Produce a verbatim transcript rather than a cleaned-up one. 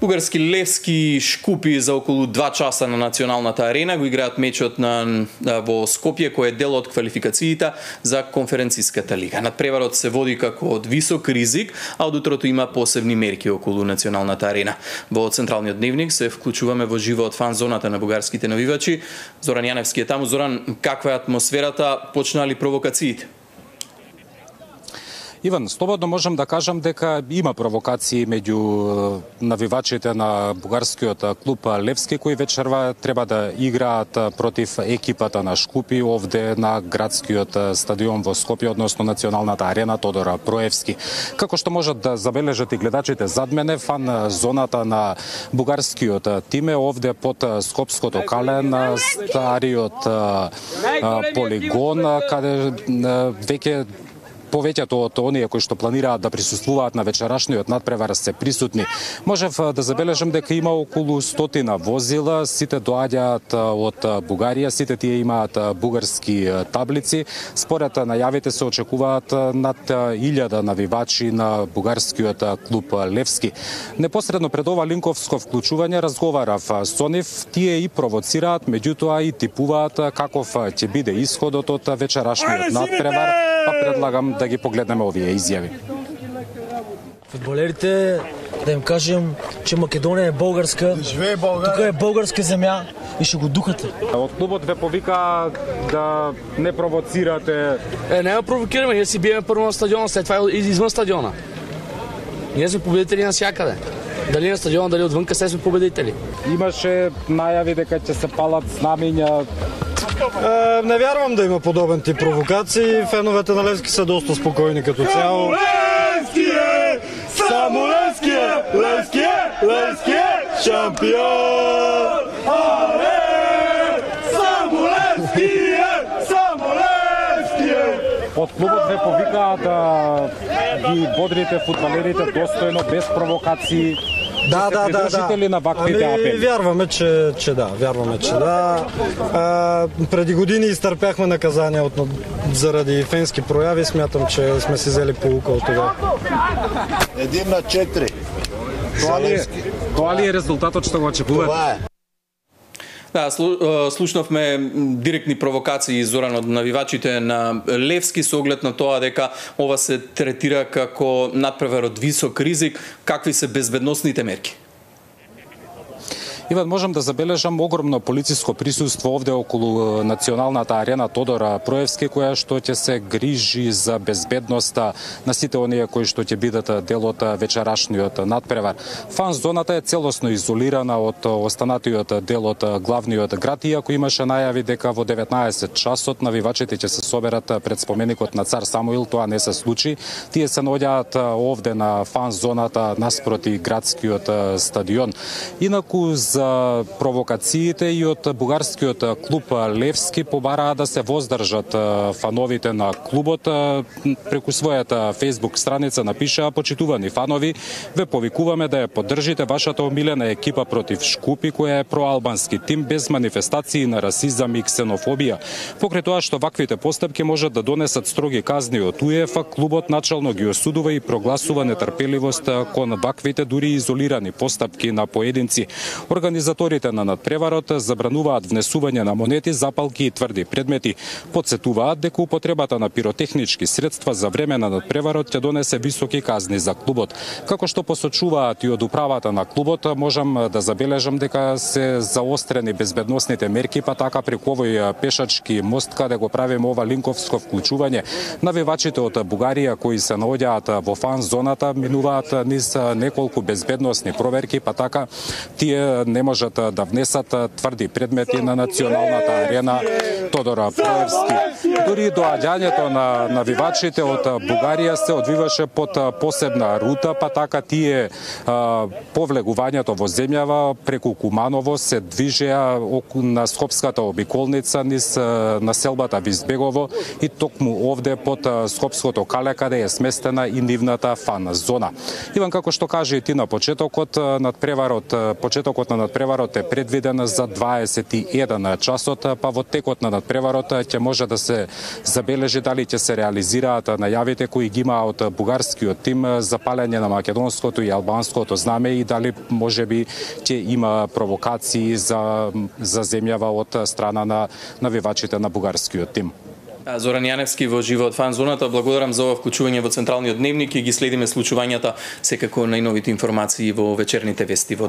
Бугарски левски Шкупи за околу два часа на националната арена го играат мечот на, на во Скопје, кој е дел од квалификациите за конференциската лига. Надпреварот се води како од висок ризик, а од утрото има посебни мерки околу националната арена. Во централниот дневник се вклучуваме во живо од фан зоната на бугарските навивачи. Зоран Јаневски е таму. Зоран, каква е атмосферата? Почнаа ли провокациите? Иван, слободно можам да кажам дека има провокации меѓу навивачите на бугарскиот клуб Левски, кои вечерва треба да играат против екипата на Шкупи овде на градскиот стадион во Скопје, односно националната арена Тодор Проевски. Како што можат да забележат и гледачите зад мене, фан зоната на бугарскиот тим е овде под Скопското кале на стариот полигон, каде веќе повеќето од оние кои што планираат да присуствуваат на вечерашниот надпревар се присутни. Можев да забележам дека има околу стотина возила, сите доаѓаат од Бугарија, сите тие имаат бугарски таблици. Според најавите се очекуваат над илјада навивачи на бугарскиот клуб Левски. Непосредно пред ова линковско вклучување разговарав со нив, тие и провоцираат, меѓутоа и типуваат каков ќе биде исходот од вечерашниот надпревар, па предлагам да ги погледнеме овие изјави. Фудбалерите да им кажем, че Македонија е българска, тука е българска земја и ще го духате. Од клубот ве повика да не провоцирате. Е, не ја провокираме, ние си биеме прво на стадиона, след това извън стадиона. Ние сме победители навсякаде. Дали на стадиона, дали отвънка, се сме победители. Имаше најави дека ќе се палат знамиња. Е, не вярвам да има подобен тип провокации. Феновете на Левски са доста спокойни като цяло. Левски е! Само Левски е! Левски е! Левски е! Шампион! Але! Само Левски е! Само Левски е! Од клубот ве повикаа да ги бодрите фудбалерите достојно, без провокации. Да, да, да, да. На ваквите ами, апели? Вярваме, че, че да, вярваме, че да. А, преди години изтърпяхме наказания от, заради фенски прояви, смятам, че сме си взели поука от това. Един на четири. Това ли е, това ли е резултатот што го очекувате? Това е. Да, слушнавме директни провокации, Зоран, од навивачите на Левски со оглед на тоа дека ова се третира како надпревар од висок ризик. Какви се безбедносните мерки? Иван, можам да забележам огромно полициско присуство овде околу националната арена Тодор Проевски, која што ќе се грижи за безбедноста на сите оние кои што ќе бидат дел од вечерашниот надпревар. Фан зоната е целосно изолирана од останатиот дел од главниот град, иако имаше најави дека во деветнаесет часот навивачите ќе се соберат пред споменикот на цар Самуил. Тоа не се случи. Тие се наоѓаат овде на фан зоната наспроти градскиот стадион. Инаку за провокациите и од бугарскиот клуб Левски побараа да се воздржат фановите на клубот. Преку својата Facebook страница напишаа: почитувани фанови, ве повикуваме да ја поддржите вашата омилена екипа против Шкупи, која е проалбански тим без манифестации на расизам и ксенофобија. Покрај тоа што ваквите постапки можат да донесат строги казни од УЕФА, клубот начално ги осудува и прогласува нетрпеливост кон ваквите дури изолирани постапки на поединци. Организаторите на надпреварот забрануваат внесување на монети, запалки и тврди предмети. Подсетуваат дека употребата на пиротехнички средства за време на надпреварот ќе донесе високи казни за клубот. Како што посочуваат и од управата на клубот, можам да забележам дека се заострени безбедносните мерки, па така преку овој пешачки мост каде го правиме ова линковско вклучување. Навивачите од Бугарија кои се наоѓаат во фан зоната минуваат низ неколку безбедносни проверки, па така тие не можат да внесат тврди предмети на националната арена Тодор Проевски. Дури доаѓањето на навивачите од Бугарија се одвиваше под посебна рута, па така тие а, повлегувањето во земјава преку Куманово се движеа на Скопската обиколница низ населбата Визбегово и токму овде под Скопското кале каде е сместена и нивната фан зона. Иван, како што кажа и ти на почетокот, надпреварот, почетокот на надпреварот е предвиден за дваесет и еден часот, па во текот на надпреварот ќе може да се забележи дали ќе се реализираат најавите кои ги има од бугарскиот тим за палење на македонското и албанското знаме и дали можеби ќе има провокации за за земјава од страна на навивачите на бугарскиот тим. Зоран Јаневски во живо од фан зоната. Благодарам за ова вклучување во Централниот дневник и ги следиме случувањата секако најновите информации во вечерните вести во